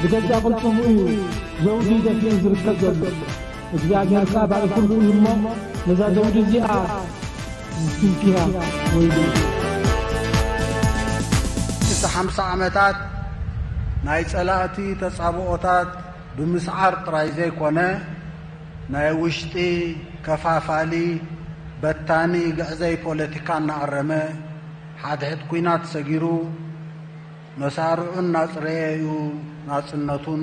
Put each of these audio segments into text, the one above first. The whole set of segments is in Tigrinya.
ብገዛእ ቅልጽሙ እዩ ዘውዲ ደፊኡ ዝርከብ ዘሎ። እግዚኣብሔር ከኣ ባዕሉ ኩሉ እዩ እሞ፣ ነዛ ዘውዲ እዚኣ ዝትንክያ ወይሉ። እቲ ሓምሳ ዓመታት ናይ ጸላእቲ ተጻብኦታት ብምስዓር ጥራይ ዘይኮነ፣ ናይ ውሽጢ ከፋፋሊ፣ በታኒ፣ ግዕዘይ ፖለቲካ እናኣረመ፣ ሓድሕድ ኲናት ሰጊሩ፣ መሳርዑ እናጽረየ እዩ ናጽነቱን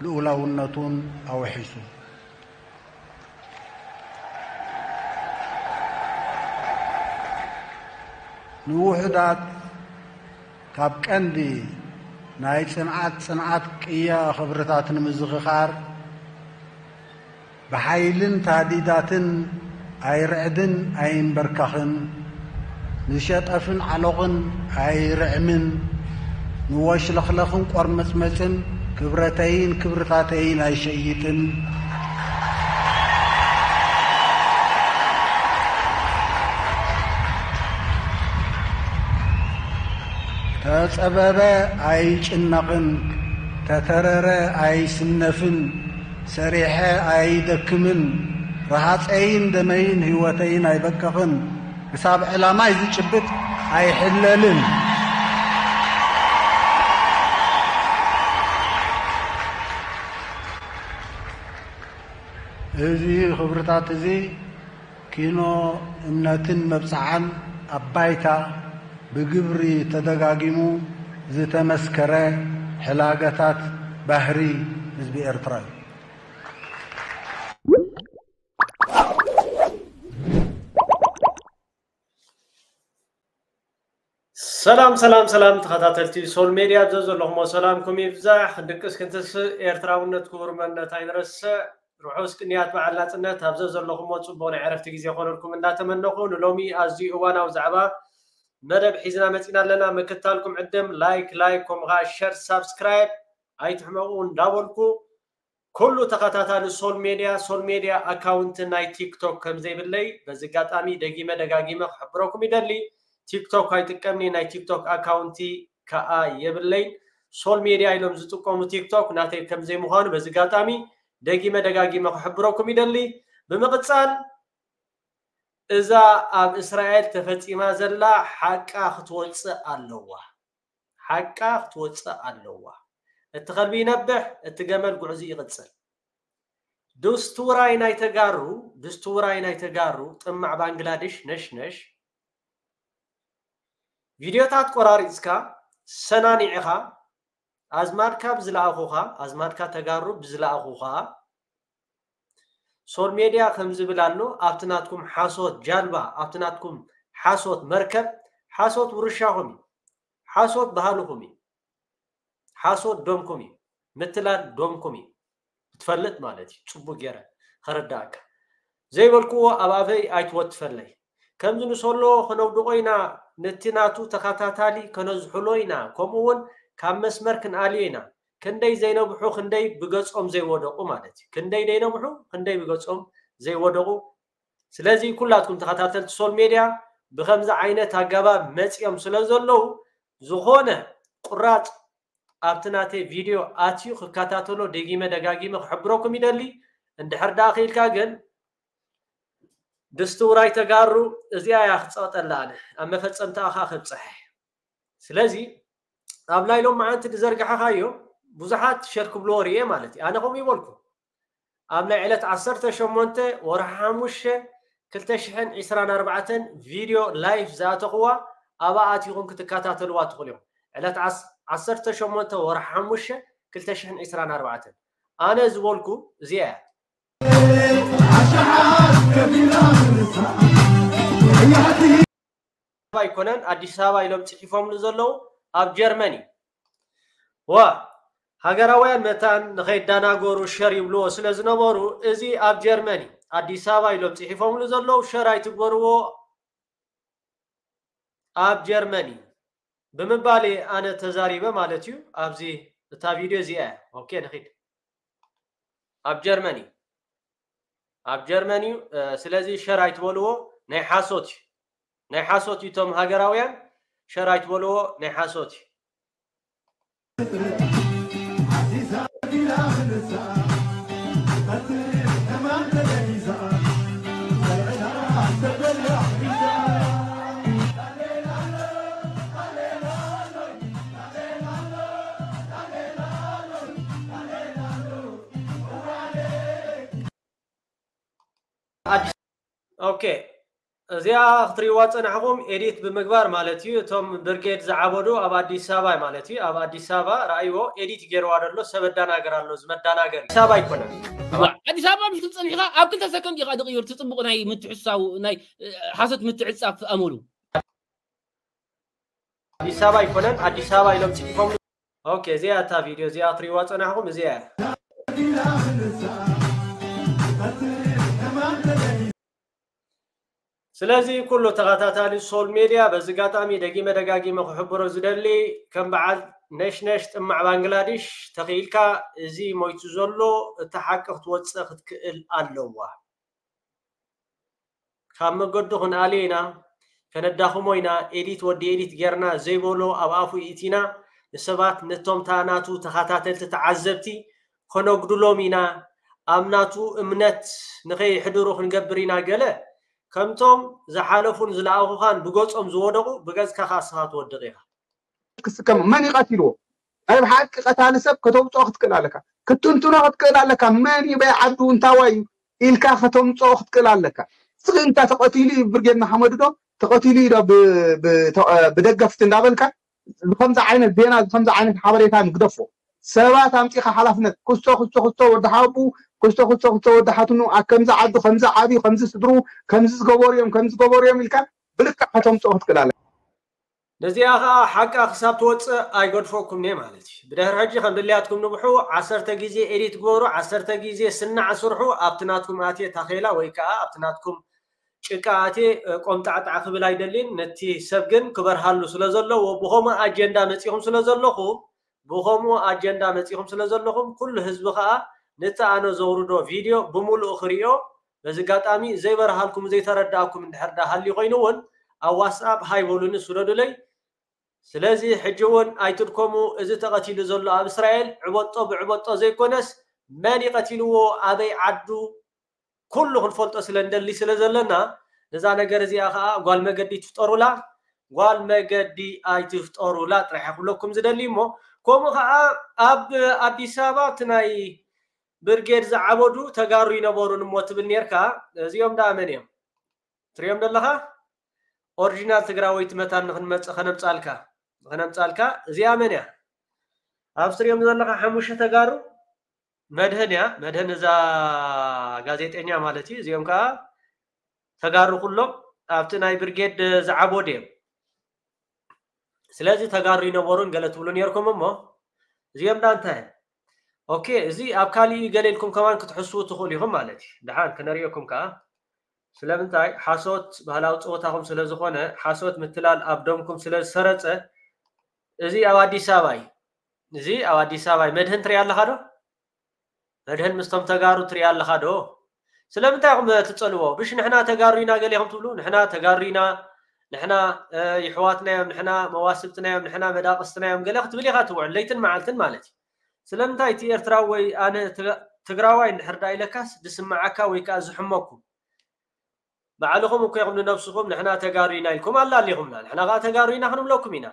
ልኡላውነቱን ኣውሒሱ። ንውሑዳት ካብ ቀንዲ ናይ ጽንዓት፣ ጽንዓት ቅያ ክብርታት ንምዝኽኻር፣ ብሓይልን ታዲዳትን ኣይርዕድን ኣይንበርካኽን፣ ንሸጠፍን ዓሎቕን ኣይርዕምን፣ ንወሽለኽለኽን ቆርመጽመጽን ክብረተይን ክብርታተይን ኣይሸይጥን። ተጸበበ ኣይጭነቕን፣ ተተረረ ኣይስነፍን፣ ሰሪሐ ኣይደክምን፣ ረሃጸይን ደመይን ህይወተይን ኣይበቅቕን፣ ክሳብ ዕላማይ ዝጭብጥ ኣይሕለልን። እዚ ክብርታት እዚ ኪኖ እምነትን መብጽዓን ኣብ ባይታ ብግብሪ ተደጋጊሙ ዝተመስከረ ሕላገታት ባህሪ ህዝቢ ኤርትራ እዩ። ሰላም ሰላም ሰላም፣ ተኸታተልቲ ሶል ሜድያ፣ ኣብ ዘለኹሞ ሰላምኩም ይብዛሕ። ክንድቅስ ክንትስእ፣ ኤርትራውነት ክቡር መንነት ኣይንረስዕ። ርሑስ ቅንያት በዓል ናጽነት። ኣብ ዘለኹሞ ጽቡቕ ናይ ዕረፍቲ ግዜ ይኾነልኩም እንዳተመነኹ፣ ንሎሚ ኣዝዩ እዋናዊ ዛዕባ መደብ ሒዝና መጺና ኣለና። ምክታልኩም ዕድም፣ ላይክ ላይክ፣ ከምኡ ኸኣ ሸር፣ ሳብስክራይብ ኣይትሕመቑ እንዳበልኩ፣ ኩሉ ተኸታታሊ ሶል ሜድያ፣ ሶል ሜድያ ኣካውንት ናይ ቲክቶክ ከም ዘይብለይ በዚ ኣጋጣሚ ደጊመ ደጋጊመ ክሕብረኩም ይደሊ። ቲክቶክ ኣይጥቀምኒ፣ ናይ ቲክቶክ ኣካውንቲ ከኣ የብለይን። ሶል ሜድያ ኢሎም ዝጥቀሙ ቲክቶክ ናተይ ከም ዘይምዃኑ በዚ ኣጋጣሚ ደጊመ ደጋጊመ ክሕብረኩም ይደሊ። ብምቕጻል፣ እዛ ኣብ እስራኤል ተፈጺማ ዘላ ሓቃ ክትወጽእ ኣለዋ። ሓቃ ክትወጽእ ኣለዋ። እቲ ከልቢ ይነብሕ፣ እቲ ገመል ጉዕዙ ይቕጽል። ድስቱራይ ናይ ተጋሩ፣ ድስቱራይ ናይ ተጋሩ፣ ጥማዕ ባንግላዴሽ ነሽነሽ፣ ቪድዮታት ቆራሪጽካ፣ ሰናኒዕኻ፣ ኣዝማድካ ብዝለኣኹኻ፣ ኣዝማድካ ተጋሩ ብዝለኣኹኻ፣ ሶል ሜድያ ከም ዝብል ኣሎ፣ ኣብቲ ናትኩም ሓሶት ጃልባ፣ ኣብቲ ናትኩም ሓሶት መርከብ፣ ሓሶት ውርሻኹም እዩ። ሓሶት ባህልኹም እዩ። ሓሶት ደምኩም እዩ። ምትላል ደምኩም እዩ። ክትፈልጥ ማለት እዩ። ጽቡቅ ገይረ ከረዳእካ። ዘይበልክዎ ኣብ ኣፈይ ኣይትወትፈለይ። ከምዚ ንሰሎ ከነውድቆ ኢና፣ ነቲ ናቱ ተኸታታሊ ከነዝሕሎ ኢና፣ ከምኡ እውን ካብ መስመር ክንኣልዮ ኢና። ክንደይ ዘይነብሑ፣ ክንደይ ብገጾም ዘይወደቁ ማለት እዩ። ክንደይ ዘይነብሑ፣ ክንደይ ብገጾም ዘይወደቁ። ስለዚ ኩላትኩም ተኸታተልቲ ሶል ሜድያ ብኸምዚ ዓይነት ኣገባብ መጺኦም ስለ ዘለዉ፣ ዝኾነ ቁራጽ ኣብቲ ናተይ ቪድዮ ኣትዩ ክከታተሎ ደጊመ ደጋጊመ ክሕብረኩም ይደሊ። እንድሕር ደኣ ክኢልካ ግን ድስቲ ውራይ ተጋሩ እዚኣ እያ ክጸቕጠላ ኣነ ኣብ መፈጸምታኣ ከኣ ከብጽሐ። ስለዚ ኣብ ናይ ሎመዓንቲ ዝዘርጋሕኻዮ ብዙሓት ሸር ክብልዎ ርእየ ማለት እዩ። ኣነ ከምኡ ይበልኩ። ኣብ ናይ ዕለት ዓሰርተ ሸሞንተ ወርሒ ሓሙሽተ ክልተ ሽሕን ዕስራን ኣርባዕተን ቪድዮ ላይፍ ዝኣተኽዋ ኣብኣ ኣቲኹም ክትከታተልዋ ትኽእሉ እዮም። ዕለት ዓስ-፣ ዓሰርተ ሸሞንተ ወርሒ ሓሙሽተ ክልተ ሽሕን ዕስራን ኣርባዕተን። ኣነ ዝበልኩ እዚኣ እያ። ኣይኮነን፣ ኣዲስ ኣበባ ኢሎም ጽሒፎምሉ ዘለዉ ኣብ ጀርመን እዩ። ዋ፣ ሃገራውያን መታን ንኸይዳናገሩ ሸር ይብልዎ ስለ ዝነበሩ፣ እዚ ኣብ ጀርመን እዩ። ኣዲስ ኣበባ ኢሎም ጽሒፎምሉ ዘለዉ፣ ሸር ኣይትግበርዎ፣ ኣብ ጀርመን እዩ ብምባል እየ ኣነ ተዛሪበ ማለት እዩ። ኣብዚ እታ ቪድዮ እዚኣ እያ። ኦኬ፣ ንኺድ። ኣብ ጀርመን እዩ። ኣብ ጀርመን እዩ። እ፣ ስለዚ ሸር ኣይትበልዎ፣ ናይ ሓሶት እዩ። ናይ ሓሶት እዩ። እቶም ሃገራውያን ሸር ኣይትበልዎ፣ ናይ ሓሶት እዩ። ኦኬ፣ እዚኣ ክትሪእዋ ጸናሕኹም ኤዲት ብምግባር ማለት እዩ። እቶም ብርጌድ ዝዓበዱ ኣብ ኣዲስ ኣበባ ማለት እዩ። ኣብ ኣዲስ ኣበባ ረኣይዎ፣ ኤዲት ገይርዋ ዘሎ ሰብ ኣዳናገር ኣሎ፣ እዚ መዳናገር ኣዲስ ኣበባ ኣይኮነን። ኣዲስ ኣበባ ምሽ ክትጸኒሕካ ኣብ ክልተ ሰከንድ ኢኻ ድቕይር ትጽቡቕ ናይ ምትሕሳው ናይ ሓሶት ምትዕጻፍ ኣመሉ። ኣዲስ ኣበባ ኣይኮነን፣ ኣዲስ ኣበባ ኢሎም ጽሒፎም። ኦኬ፣ እዚኣ እታ ቪድዮ እዚኣ ክትሪእዋ ጸናሕኹም፣ እዚኣ እያ። ስለዚ ኩሉ ተኸታታሊ ሶል ሜድያ በዚ ኣጋጣሚ ደጊመ ደጋጊመ ክሕብሮ ዝደሊ፣ ከም በዓል ነሽነሽ ጥማዕ ባንግላዲሽ ተኽኢልካ፣ እዚ ሞይቱ ዘሎ እቲ ሓቂ ክትወፅእ ክትክእል ኣለዋ። ካብ መገዱ ክንኣልዮ ኢና፣ ከነዳኽሞ ኢና። ኤዲት ወዲ ኤዲት ጌርና ዘይበሎ ኣብ ኣፉ ኢቲና ንሰባት፣ ነቶም ታ ናቱ ተኸታተልቲ ተዓዘብቲ ከነጉድሎም ኢና። ኣብ ናቱ እምነት ንኸይሕድሩ ክንገብር ኢና። ገለ ከምቶም ዝሓለፉን ዝለኣኹኻን ብገጾም ዝወደቑ ብገጽካ ከኣ ንስኻ ትወድቕ ኢኻ። ክስከም መን ይቀትልዎ? ናይ ብሓቂ ቀታሊ ሰብ ከተውፅኦ ክትክእል ኣለካ፣ ክትንትኖ ክትክእል ኣለካ። መን እዩ በይ ዓዱ እንታዋይ እዩ ኢልካ ከተምፅኦ ክትክእል ኣለካ። ስቕ ኢልካ ተቐቲሉ እዩ ብርጌድ ንሓመዱ ዶ ተቐቲሉ እዩ ዶ ብ- ብ- ተ- ብደገፍቲ እንዳበልካ ከምዚ ዓይነት ዜና ከምዚ ዓይነት ሓበሬታ ንግደፎ። ሰባት ኣምፂኻ ሓላፍነት ክስቶ ክስቶ ክስቶ ወዲ ሓቡ ክስቶ ክስቶ ክስቶ ወዲ ሓትኑ ኣብ ከምዚ ዓዱ ከምዚ ዓብዩ ከምዚ ስድሩ ከምዚ ዝገበሩ እዮም ከምዚ ዝገበሩ እዮም ኢልካ ብልክዕ ከተምፅኦ ክትክእል ኣለካ። ነዚኣ ኸዓ ሓቃ ክሳብ ትወፅእ ኣይገድፈኩምን እየ ማለት እዩ። ብድሕሪ ሕጂ ከም ድልያትኩም ንብሑ ዓሰርተ ግዜ ኤዲት ግበሩ፣ ዓሰርተ ግዜ ስናዕ ስርሑ። ኣብቲ ናትኩም ኣትየ ታኼላ ወይ ከዓ ኣብቲ ናትኩም ጭቃ ኣትየ ቆምጣዕጣዕ ክብል ኣይደልን። ነቲ ሰብ ግን ክበርሃሉ ስለ ዘለዎ ብኸምኡ ኣጀንዳ መፂኹም ስለ ዘለኹም ብኸምኡ ኣጀንዳ መፂኹም ስለ ዘለኹም ኩሉ ህዝቢ ኸዓ ነቲ ኣነ ዘውርዶ ቪድዮ ብምሉኡ ክርእዮ በዚ ኣጋጣሚ ዘይበርሃልኩም ዘይተረዳእኩም እንድሕር ዳ ሃልዩ ኮይኑ እውን ኣብ ዋትስኣፕ ሃይ በሉኒ ስደዱለይ። ስለዚ ሕጂ እውን ኣይትድከሙ፣ እዚ ተቐቲሉ ዘሎ ኣብ እስራኤል ዕበጦ ብዕበጦ ዘይኮነስ መን ይቐቲልዎ ኣበይ ዓዱ ኩሉ ክንፈልጦ ስለ እንደሊ ስለ ዘለና ነዛ ነገር እዚኣ ከዓ ጓል መገዲ ትፍጠሩላ፣ ጓል መገዲ ኣይትፍጠሩላ ጥራሕ ክብለኩም ዝደሊ እሞ ከምኡ ከዓ ኣብ ኣዲስ ኣበባ እቲ ናይ ብርጌድ ዝዓበዱ ተጋሩ ይነበሩን እሞ ትብል ኔርካ። እዚኦም ደኣ መን እዮም? ትሪኦም ዘለኻ ኦሪጂናል ትግራወይቲ መታን ንክንመፅእ ከነምፃልካ ከነምፃልካ እዚኣ መን እያ? ኣብ ትሪኦም ዘለኻ ሓሙሽተ ተጋሩ መድህን እያ። መድህን እዛ ጋዜጠኛ ማለት እዩ። እዚኦም ከዓ ተጋሩ ኩሎም ኣብቲ ናይ ብርጌድ ዝዓበዱ እዮም። ስለዚ ተጋሩ ይነበሩን ገለ ትብሉ ኔርኩም እሞ እዚኦም ዳ እንታይ እዮም? ኦኬ፣ እዚ ኣብ ካሊእ ገለ ኢልኩም ከማን ክትሕስቡ ትኽእሉ ኢኹም ማለት እዩ። ደሓን ክነርእየኩም ከዓ ስለምንታይ ሓሶት ባህላዊ ፀወታኹም ስለ ዝኾነ ሓሶት ምትላል ኣብ ደምኩም ስለ ዝሰረፀ እዚ ኣብ ኣዲስ ኣበባ እዩ። እዚ ኣብ ኣዲስ ኣበባ እዩ። መድህን ትሪኣ ኣለኻ ዶ? መድህን ምስቶም ተጋሩ ትሪኣ ኣለኻ ዶ? ስለምንታይ ኢኹም ትፀልዎ? ብሽ ንሕና ተጋሩ ኢና ገለ ኢኹም ትብሉ። ንሕና ተጋሩ ኢና፣ ንሕና ይሕዋትና እዮም፣ ንሕና መዋስብትና እዮም፣ ንሕና መዳቕስትና እዮም ገለ ክትብል ኢኻ ትውዕል ለይትን መዓልትን ማለት እዩ። ስለምንታይ እቲ ኤርትራዊ ወይ ኣነ ትግራዋይ እንድሕር ዳ ኢለካስ ዝስምዓካ ወይ ከዓ ዝሕመኩም ባዕልኹም እኮ ኢኹም ንነብስኹም ንሕና ተጋሩ ኢና ኢልኩም ኣላሊኹምና፣ ንሕና ከዓ ተጋሩ ኢና ክንብለኩም ኢና።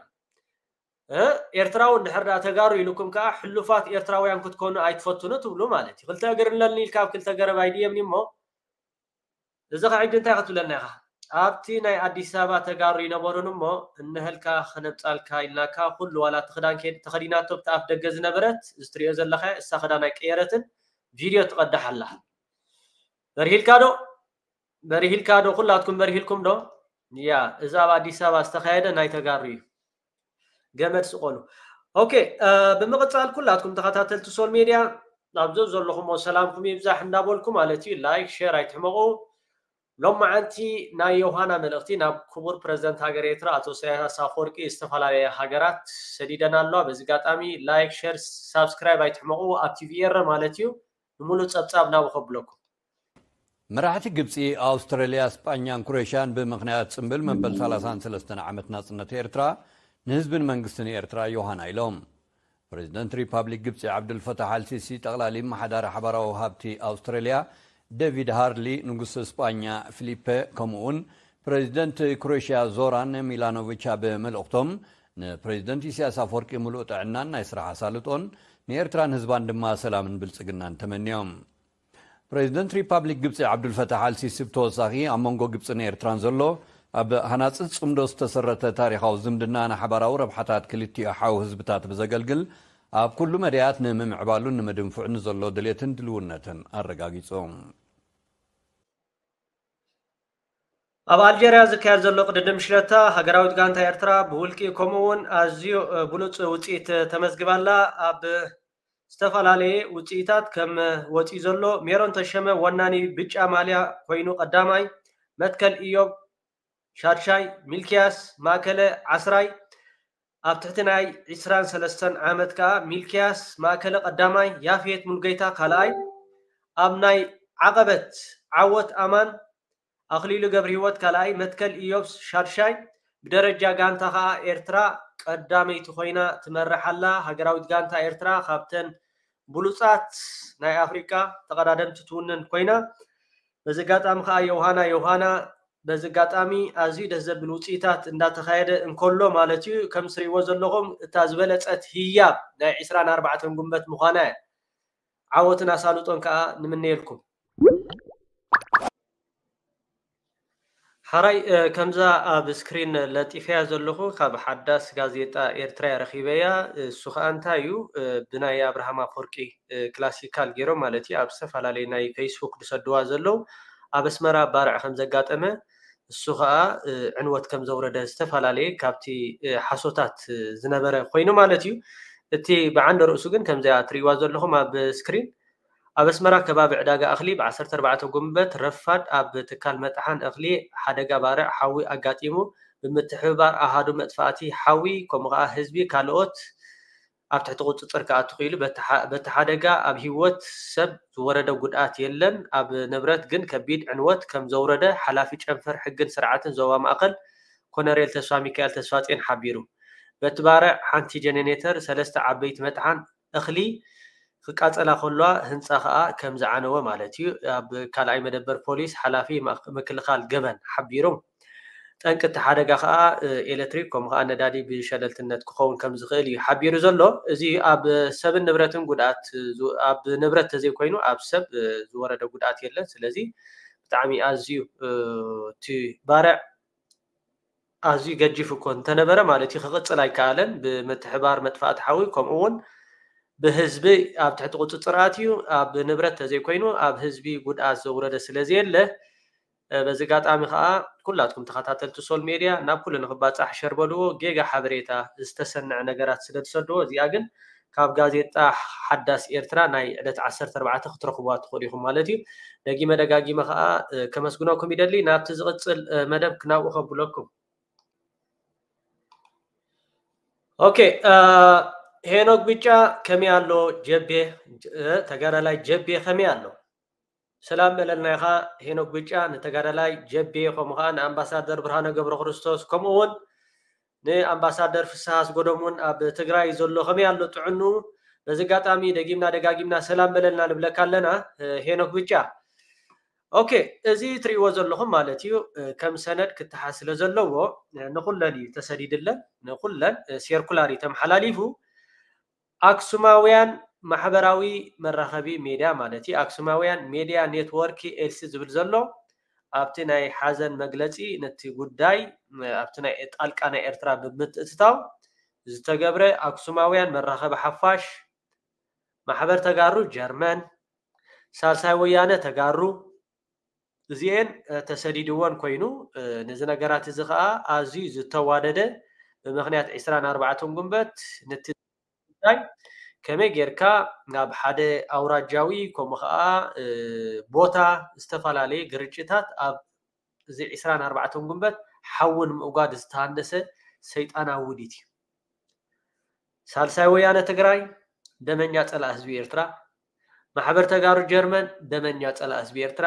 ኤርትራዊ እንድሕር ዳ ተጋሩ ኢሉኩም ከዓ ሕሉፋት ኤርትራውያን ክትኮኑ ኣይትፈትኑ ትብሉ ማለት እዩ። ክልተ እግር ኣለኒ ኢልካ ኣብ ክልተ ገረብ ኣይድየብኒ እሞ እዚ ከዓ ሕጂ እንታይ ክትብለና ኢኻ? ኣብቲ ናይ ኣዲስ ኣበባ ተጋሩ ይነበሩን እሞ እንሀልካ ክነምፃልካ ኢልናካ ኩሉ ዋላ እቲ ክዳን ተኸዲናቶ ብቲ ኣፍ ደገ ዝነበረት እዚ ትሪኦ ዘለኻ እሳ ክዳን ኣይቀየረትን ቪድዮ ትቐዳሕ ኣላ። በርሂልካ ዶ? በርሂልካ ዶ? ኩላትኩም በርሂልኩም ዶ? ያ፣ እዚ ኣብ ኣዲስ ኣበባ ዝተኻየደ ናይ ተጋሩ እዩ። ገመድ ስቆሉ። ኦኬ፣ ብምቕፃል ኩላትኩም ተኸታተልቲ ሶል ሜድያ ኣብ ዘብ ዘለኹሞ ሰላምኩም ይብዛሕ እንዳበልኩ ማለት እዩ። ላይክ ሼር ኣይትሕመቑ። ሎማዓንቲ ናይ ዮሃና መልእኽቲ ናብ ክቡር ፕረዚደንት ሃገር ኤርትራ ኣቶ ኢሳያስ ኣፈወርቂ ዝተፈላለየ ሃገራት ሰዲደን ኣለዋ። በዚ ኣጋጣሚ ላይክ ሼር ሳብስክራይብ ኣይትሕመቑ ኣብ ቲቪ ኤረ ማለት እዩ። ንምሉእ ፀብፃብ ናብኡ ከብለኩም። መራሕቲ ግብፂ፣ ኣውስትራልያ፣ ስጳኛን ክሮኤሽያን ብምኽንያት ፅምብል መበል ሰላሳን ሰለስተን ዓመት ናፅነት ኤርትራ ንህዝብን መንግስትን ኤርትራ ዮሃና ኢሎም። ፕሬዚደንት ሪፓብሊክ ግብፂ ዓብዱልፈታሕ ኣልሲሲ፣ ጠቕላሊ ኣመሓዳሪ ሓባራዊ ሃብቲ ኣውስትራልያ ዴቪድ ሃርሊ፣ ንጉስ ስጳኛ ፊሊፐ ከምኡውን ፕሬዚደንት ክሮኤሽያ ዞራን ሚላኖቪች ኣብ መልእኽቶም ንፕሬዚደንት ኢሳያስ ኣፈወርቂ ምሉእ ጥዕናን ናይ ስራሕ ኣሳልጦን ንኤርትራን ህዝባን ድማ ሰላምን ብልፅግናን ተመንዮም። ፕሬዚደንት ሪፓብሊክ ግብፂ ዓብዱልፈታሕ ኣልሲሲ ብተወሳኺ ኣብ መንጎ ግብፅን ኤርትራን ዘሎ ኣብ ሃናፂ ፅምዶ ዝተሰረተ ታሪኻዊ ዝምድና ንሓባራዊ ረብሓታት ክልቲኡ ሓው ህዝብታት ብዘገልግል ኣብ ኩሉ መዳያት ንምምዕባሉን ንምድንፍዑ ንዘሎ ድሌትን ድልውነትን ኣረጋጊጾም። ኣብ ኣልጀርያ ዝካየድ ዘሎ ቅድድም ሽለታ ሃገራዊት ጋንታ ኤርትራ ብውልቂ ከምኡ እውን ኣዝዩ ብሉጽ ውጽኢት ተመዝግባላ። ኣብ ዝተፈላለየ ውጽኢታት ከም ወጺኡ ዘሎ ሜሮን ተሸመ ወናኒ ብጫ ማልያ ኮይኑ ቀዳማይ፣ መትከል ኢዮብ ሻድሻይ፣ ሚልኪያስ ማእከለ ዓስራይ፣ ኣብ ትሕቲ ናይ ዕስራን ሰለስተን ዓመት ከኣ ሚልኪያስ ማእከለ ቀዳማይ፣ ያፌት ሙሉጌታ ካልኣይ፣ ኣብ ናይ ዓቐበት ዓወት ኣማን ኣኽሊሉ ገብረሂወት ካልኣይ፣ መትከል ኢዮብ ሻድሻይ፣ ብደረጃ ጋንታ ከኣ ኤርትራ ቀዳመይቲ ኮይና ትመርሕ ኣላ። ሃገራዊት ጋንታ ኤርትራ ካብተን ብሉጻት ናይ ኣፍሪቃ ተቐዳደምቲ ትውንን ኮይና፣ በዚ ኣጋጣሚ ከኣ ዮሃና ዮሃና በዚ ኣጋጣሚ ኣዝዩ ደስ ዘብል ውጽኢታት እንዳተኻየደ እንከሎ ማለት እዩ። ከም ትሪእዎ ዘለኹም እታ ዝበለጸት ህያብ ናይ ዕስራን ኣርባዕተን ጉንበት ምዃና እያ። ዓወትን ኣሳልጦን ከኣ ንምነየልኩም። ሓራይ ከምዛ ኣብ ስክሪን ለጢፈያ ዘለኹ ካብ ሓዳስ ጋዜጣ ኤርትራ ረኺበያ። እሱ ከኣ እንታይ እዩ፣ ብናይ ኣብርሃም ኣፈወርቂ ክላሲካል ገይሮም ማለት እዩ ኣብ ዝተፈላለየ ናይ ፌስቡክ ዝሰድዋ ዘለዉ ኣብ ኣስመራ ባርዕ ከም ዘጋጠመ፣ እሱ ከኣ ዕንወት ከም ዘውረደ ዝተፈላለየ ካብቲ ሓሶታት ዝነበረ ኮይኑ ማለት እዩ። እቲ ብዓንደ ርእሱ ግን ከምዚኣ ትሪእዋ ዘለኹም ኣብ ስክሪን ኣብ ኣስመራ ከባቢ ዕዳጋ እኽሊ ብ ዓሰርተ ኣርባዕተ ጉንበት ረፋድ ኣብ ትካል መጥሓን እኽሊ ሓደጋ ባርዕ ሓዊ ኣጋጢሙ ብምትሕብባር ኣሃዱ መጥፋእቲ ሓዊ ከምኡ ከኣ ህዝቢ ካልኦት ኣብ ትሕቲ ቁጽጽር ክኣቱ ክኢሉ። በቲ ሓደጋ ኣብ ህይወት ሰብ ዝወረደ ጉድኣት የለን። ኣብ ንብረት ግን ከቢድ ዕንወት ከም ዘውረደ ሓላፊ ጨንፈር ሕግን ስርዓትን ዞባ ማእከል ኮነሬል ተስፋ ሚካኤል ተስፋጼን ሓቢሩ። በቲ ባርዕ ሓንቲ ጀነሬተር፣ ሰለስተ ዓበይቲ መጥሓን እኽሊ ክቃጸላ ከለዋ ህንጻ ከኣ ከም ዝዓነወ ማለት እዩ ኣብ ካልኣይ መደበር ፖሊስ ሓላፊ ምክልኻል ገበን ሓቢሩ። ጠንቂ እቲ ሓደጋ ከኣ ኤሌክትሪክ ከምኡ ከኣ ነዳዲ ብሸለልትነት ክኸውን ከም ዝኽእል እዩ ሓቢሩ ዘሎ። እዚ ኣብ ሰብን ንብረትን ጉድኣት ኣብ ንብረት ተዘይኮይኑ ኣብ ሰብ ዝወረደ ጉድኣት የለን። ስለዚ ብጣዕሚ ኣዝዩ እቲ ባርዕ ኣዝዩ ገጂፍ እኮ እንተነበረ ማለት እዩ ክቕጽል ኣይከኣለን። ብምትሕባር መጥፋእቲ ሓዊ ከምኡ እውን ብህዝቢ ኣብ ትሕቲ ቁጽጽር ኣትዩ ኣብ ንብረት ተዘይኮይኑ ኣብ ህዝቢ ጉድኣት ዘውረደ ስለ ዘየለ በዚ ኣጋጣሚ ከኣ ኩላትኩም ተኸታተልቲ ሶል ሜድያ ናብ ኩሉ ንኽባጻሕ ሸር በልዎ። ጌጋ ሓበሬታ ዝተሰንዐ ነገራት ስለ ዝሰድዎ እዚኣ ግን ካብ ጋዜጣ ሓዳስ ኤርትራ ናይ ዕለት ዓሰርተ ኣርባዕተ ክትረኽብዋ ትኽእሉ ኢኹም ማለት እዩ። ደጊመ ደጋጊመ ከኣ ከመስግነኩም ይደሊ። ናብቲ ዝቕጽል መደብ ክናብኡ ከብለኩም። ኦኬ፣ ሄኖክ ብጫ ከመይ ኣሎ? ጀቤ ተጋዳላይ ጀቤ ከመይ ኣሎ? ሰላም በለልና ኢኻ ሄኖክ ብጫ፣ ንተጋዳላይ ጀቤ ከምኡ ከኣ ንኣምባሳደር ብርሃነ ገብረ ክርስቶስ ከምኡ እውን ንኣምባሳደር ፍስሃ ኣስጎዶም እውን ኣብ ትግራይ ዘሎ ከመይ ኣሎ ጥዕኑ? በዚ ኣጋጣሚ ደጊምና ደጋጊምና ሰላም በለልና ንብለካ ኣለና ሄኖክ ብጫ። ኦኬ፣ እዚ ትሪእዎ ዘለኹም ማለት እዩ ከም ሰነድ ክተሓዝ ስለ ዘለዎ ንኹለን እዩ ተሰዲድለን፣ ንኹለን ሴርኩላር እዩ ተመሓላሊፉ። ኣክሱማውያን ማሕበራዊ መራኸቢ ሜድያ ማለት እዩ ኣክሱማውያን ሜድያ ኔትወርክ ኤልሲ ዝብል ዘሎ ኣብቲ ናይ ሓዘን መግለጺ ነቲ ጉዳይ ኣብቲ ናይ ጣልቃ ናይ ኤርትራ ብምትእትታው ዝተገብረ ኣክሱማውያን መራኸቢ ሓፋሽ ማሕበር ተጋሩ ጀርመን ሳልሳይ ወያነ ተጋሩ እዚኤን ተሰዲድወን ኮይኑ ነዚ ነገራት እዚ ከዓ ኣዝዩ ዝተዋደደ ብምክንያት ዕስራን ኣርባዕተን ጉንበት ነቲ ጉዳይ ከመይ ጌርካ ናብ ሓደ ኣውራጃዊ ከምኡ ከዓ ቦታ ዝተፈላለየ ግርጭታት ኣብ እዚ ዕስራን ኣርባዕተን ጉንበት ሓዊ ንምእጓድ ዝተሃንደሰ ሰይጣናዊ ውዲት እዩ። ሳልሳይ ወያነ ትግራይ ደመኛ ፀላእ ህዝቢ ኤርትራ፣ ማሕበር ተጋሩ ጀርመን ደመኛ ፀላእ ህዝቢ ኤርትራ፣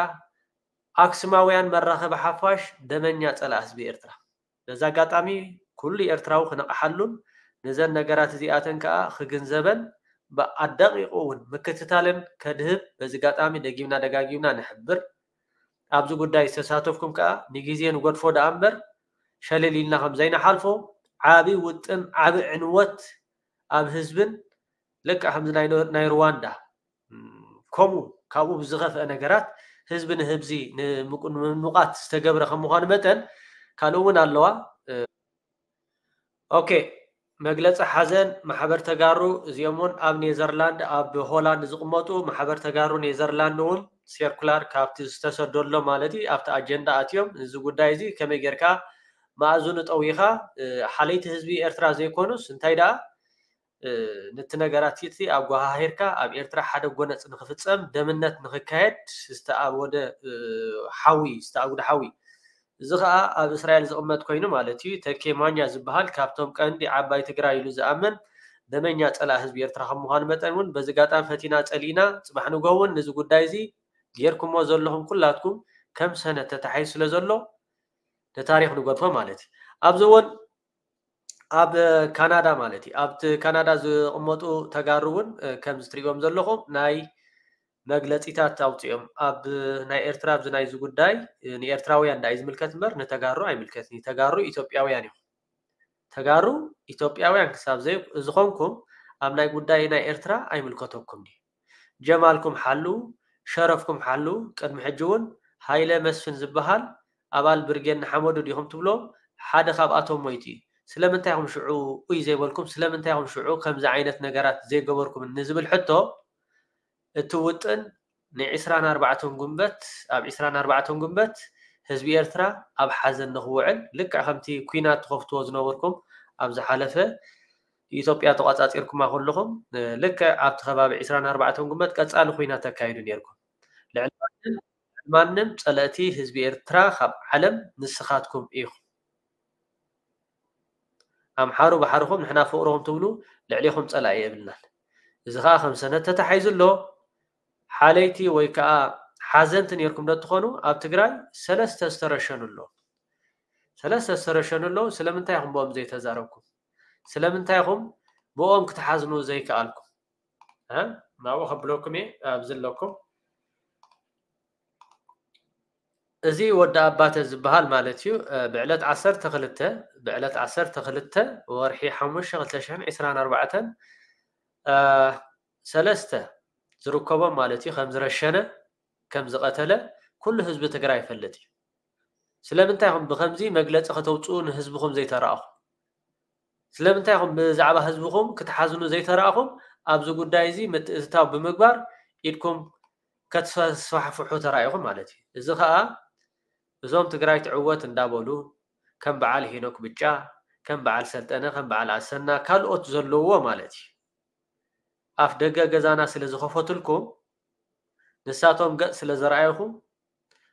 ኣክሱማውያን መራኸቢ ሓፋሽ ደመኛ ፀላእ ህዝቢ ኤርትራ። በዚ ኣጋጣሚ ኩሉ ኤርትራዊ ክነቕሓሉን ነዘን ነገራት እዚኣተን ከዓ ክግንዘበን ብኣደቂቑ እውን ምክትታልን ከድህብ በዚ ኣጋጣሚ ደጊምና ደጋጊምና ንሕብር። ኣብዚ ጉዳይ ዝተሳተፍኩም ከዓ ንግዜ ንገድፎ ደኣ እምበር ሸለል ኢልና ከም ዘይንሓልፎ ዓቢ ውጥን ዓቢ ዕንወት ኣብ ህዝብን ልክዕ ከምዚ ናይ ሩዋንዳ ከምኡ ካብኡ ብዝኸፍአ ነገራት ህዝቢ ንህብዚ ንምንቋት ዝተገብረ ከም ምዃኑ መጠን ካልእ እውን ኣለዋ። ኦኬ፣ መግለፂ ሓዘን ማሕበር ተጋሩ እዚኦም እውን ኣብ ኔዘርላንድ ኣብ ሆላንድ ዝቕመጡ ማሕበር ተጋሩ ኔዘርላንድ እውን ሴርኩላር ካብቲ ዝተሰደሎ ማለት እዩ ኣብቲ ኣጀንዳ ኣትዮም እዚ ጉዳይ እዚ ከመይ ጌርካ መኣዝኑ ጠዊኻ ሓለይቲ ህዝቢ ኤርትራ ዘይኮኑስ እንታይ ደኣ ነቲ ነገራት እቲ ኣጓሃሂርካ ኣብ ኤርትራ ሓደ ጎነፅ ንክፍፀም ደምነት ንክካየድ ዝተኣወደ ሓዊ ዝተኣጉደ ሓዊ እዚ ከዓ ኣብ እስራኤል ዝቕመጥ ኮይኑ ማለት እዩ። ተኬ ማኛ ዝበሃል ካብቶም ቀንዲ ዓባይ ትግራይ ኢሉ ዝኣምን ደመኛ ፀላእ ህዝቢ ኤርትራ ከም ምዃኑ መጠን እውን በዚ ጋጣሚ ፈቲና ፀሊእና ፅባሕ ንግሆ እውን ነዚ ጉዳይ እዚ ጌርኩሞ ዘለኹም ኩላትኩም ከም ሰነድ ተታሒዙ ስለ ዘሎ ንታሪኽ ንገድፎ ማለት እዩ። ኣብዚ እውን ኣብ ካናዳ ማለት እዩ ኣብቲ ካናዳ ዝቕመጡ ተጋሩ እውን ከምዚ ትሪእዎም ዘለኹም ናይ መግለፂታት ኣውፅኦም ኣብ ናይ ኤርትራ ኣብዚ ናይዚ ጉዳይ ንኤርትራውያን ዳኣ ዝምልከት እምበር ንተጋሩ ኣይምልከትን ተጋሩ ኢትዮጵያውያን እዮም ተጋሩ ኢትዮጵያውያን ክሳብ ዝኮንኩም ኣብ ናይ ጉዳይ ናይ ኤርትራ ኣይምልከተኩም እዩ ጀማልኩም ሓሉ ሸረፍኩም ሓሉ ቅድሚ ሕጂ እውን ሃይለ መስፍን ዝበሃል ኣባል ብርጌድ ንሓመዱ ዲኹም ትብሎም ሓደ ካብኣቶም ሞይቱ እዩ ስለምንታይ ኢኹም ሽዑ ኡይ ዘይበልኩም ስለምንታይ ኢኹም ሽዑ ከምዚ ዓይነት ነገራት ዘይገበርኩም ንዝብል ሕቶ እቲ ውጥን ን ዕስራን ኣርባዕተን ጉንበት ኣብ ዕስራን ኣርባዕተን ጉንበት ህዝቢ ኤርትራ ኣብ ሓዘን ንክውዕል ልክዕ ከምቲ ኩናት ትኸፍትዎ ዝነበርኩም ኣብ ዝሓለፈ ኢትዮጵያ ተቋጻጺርኩማ ከለኹም ልክዕ ኣብቲ ከባቢ ዕስራን ኣርባዕተን ጉንበት ቀጻሊ ኩናት ተካይዱ ነይርኩም። ልዕሊ ማንም ጸለእቲ ህዝቢ ኤርትራ ካብ ዓለም ንስኻትኩም ኢኹም። ኣምሓሩ ባሕርኹም ንሕና ፍቕርኹም ትብሉ ልዕሌኹም ጸላኢ የብልናን። እዚ ኸኣ ከም ሰነድ ተታሒዙ ኣሎ። ሓለይቲ ወይ ከኣ ሓዘንቲ ኔርኩም ዶ ትኾኑ ኣብ ትግራይ ሰለስተ ዝተረሸኑ ኣለዉ። ሰለስተ ዝተረሸኑ ኣለዉ። ስለምንታይ ኢኹም ብኦም ዘይተዛረብኩም? ስለምንታይ ኢኹም ብኦም ክትሓዝኑ ዘይከኣልኩም? ናብኡ ከብለኩም እየ ኣብዚ ኣለኩም። እዚ ወዲ ኣባተ ዝበሃል ማለት እዩ ብዕለት ዓሰርተ ክልተ ብዕለት ዓሰርተ ክልተ ወርሒ ሓሙሽተ ክልተ ሽሕን ዕስራን ኣርባዕተን ሰለስተ ዝርከቦም ማለት እዩ ከም ዝረሸነ ከም ዝቐተለ ኩሉ ህዝቢ ትግራይ ይፈልጥ እዩ። ስለምንታይ ኢኹም ብኸምዚ መግለፂ ከተውፅኡ ንህዝብኹም ዘይተረኣኹም? ስለምንታይ ኢኹም ብዛዕባ ህዝብኹም ክትሓዝኑ ዘይተረኣኹም ኣብዚ ጉዳይ እዚ ምትእትታው ብምግባር ኢድኩም ከተስፋሕፍሑ ተራኢኹም ማለት እዩ። እዚ ኸኣ እዞም ትግራይ ትዕወት እንዳበሉ ከም በዓል ሄኖክ ብጫ፣ ከም በዓል ሰልጠነ፣ ከም በዓል ኣሰና ካልኦት ዘለውዎ ማለት እዩ። ኣፍ ደገ ገዛና ስለ ዝኸፈቱልኩም ንሳቶም ገፅ ስለ ዘርኣየኹም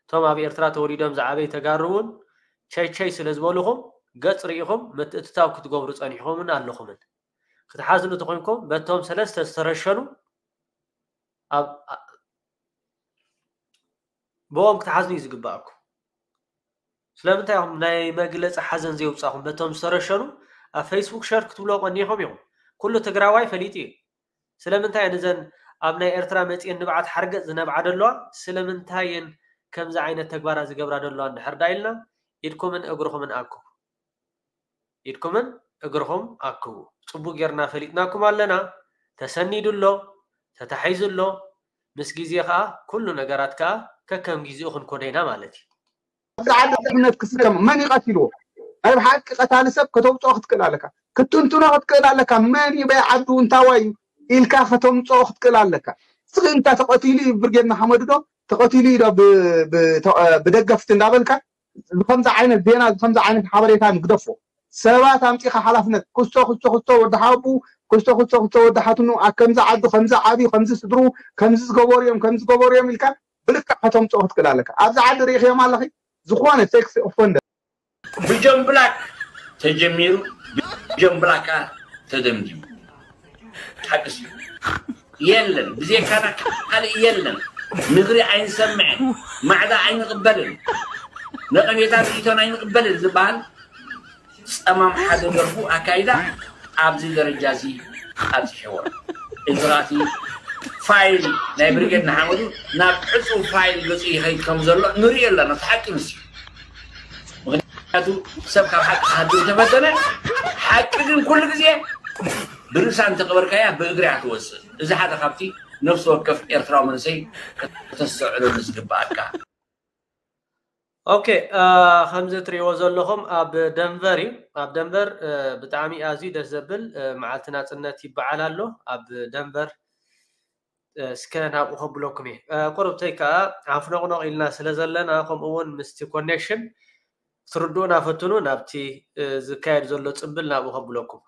እቶም ኣብ ኤርትራ ተወሊዶም ዝዓበዩ ተጋሩ እውን ቸይ ቸይ ስለ ዝበሉኹም ገፅ ርኢኹም ምትእትታው ክትገብሩ ፀኒሕኹምን ኣለኹምን። ክትሓዝኑ ተኾይንኩም በቶም ሰለስተ ዝተረሸኑ ኣብ ብኦም ክትሓዝኑ እዩ ዝግባኣኩም። ስለምንታይ ኢኹም ናይ መግለፂ ሓዘን ዘየውፃኹም በቶም ዝተረሸኑ ኣብ ፌስቡክ ሸር ክትብሎ ቀኒኹም ኢኹም። ኩሉ ትግራዋይ ፈሊጡ እዩ። ስለምንታይ እየን እዘን ኣብ ናይ ኤርትራ መፂኤን ንብዓት ሓርገፅ ዝነብዓ ደለዋ? ስለምንታይ እየን ከምዚ ዓይነት ተግባራት ዝገብራ ደለዋ እንድሕር ዳ ኢልና ኢድኩምን እግርኹምን ኣክቡ። ኢድኩምን እግርኹም ኣክቡ። ፅቡቅ ጌርና ፈሊጥናኩም ኣለና። ተሰኒዱ ኣሎ፣ ተታሒዙ ኣሎ። ምስ ግዜ ከዓ ኩሉ ነገራት ከዓ ከከም ግዜኡ ክንኮዶ ኢና ማለት እዩ። ኣብዚ ዓዲ ድሕነት ክስከም መን ይቀቲልዎ? ናይ ብሓቂ ቀታሊ ሰብ ከተውፅኦ ክትክእል ኣለካ፣ ክትንትኖ ክትክእል ኣለካ። መን እዩ በይ ዓዱ እንታዋይ እዩ ኢልካ ከተምፅኦ ክትክእል ኣለካ። ስቕ ኢልካ ተቐቲሉ እዩ ብርጌድ ንሓመዱ ዶ ተቐቲሉ እዩ ዶ ብደገፍቲ እንዳበልካ ከምዚ ዓይነት ዜና ከምዚ ዓይነት ሓበሬታ ንግደፎ። ሰባት ኣምፂኻ ሓላፍነት ክስቶ ክስቶ ክስቶ ወዲ ሓቡ ክስቶ ክስቶ ክስቶ ወዲ ሓትኑ ኣብ ከምዚ ዓዱ ከምዚ ዓብዩ ከምዚ ስድሩ ከምዚ ዝገበሩ እዮም ከምዚ ዝገበሩ እዮም ኢልካ ብልክዕ ከተምፅኦ ክትክእል ኣለካ። ኣብዚ ዓዲ ርኢኽዮም ኣለኺ? ዝኾነ ሴክስ ኦፈንደር ብጆን ብላክ ተጀሚሩ ብጆን ብላክ ከዓ ተደምዲሙ። ሓቅስ የለን፣ ብዘይካና ካልእ የለን። ምኽሪ ኣይንሰምዕን፣ ማዕዳ ኣይንቕበልን፣ ነቐፌታ ርእይቶን ኣይንቕበልን ዝበሃል ጸማም ሓደ ደርፉ ኣካይዳ ኣብዚ ደረጃ እዚ ኣብፂሕዎ። እዚ ኸኣቲ ፋይል ናይ ብርጌድ ንሓመዱ ናብ ዕፁብ ፋይል ገፁ ይኸይድ ከም ዘሎ ንሪኦ ኣለና። እቲ ሓቂ ንሱ እዩ። ምኽንያቱ ሰብ ካብ ሓቂ ክሃድም ተፈተነ፣ ሓቂ ግን ኩሉ ግዜ ብርእሳ እንተቐበርካያ ብእግሪ እያ ትወፅእ። እዚ ሓደ ካብቲ ነፍሲ ወከፍ ኤርትራዊ መንእሰይ ከተስተውዕለሉ ዝግባኣካ። ኦኬ፣ ከምዚ እትሪእዎ ዘለኹም ኣብ ደንቨር እዩ። ኣብ ደንቨር ብጣዕሚ ኣዝዩ ደስ ዘብል መዓልቲ ናፅነት ይበዓል ኣሎ ኣብ ደንቨር። እስከ ናብኡ ከብለኩም እየ። ቁርብተይ ከዓ ሓፍኖቕኖቕ ኢልና ስለ ዘለና፣ ከምኡ እውን ምስቲ ኮኔክሽን ክትርድኡና ፈትኑ። ናብቲ ዝካየድ ዘሎ ፅምብል ናብኡ ከብለኩም።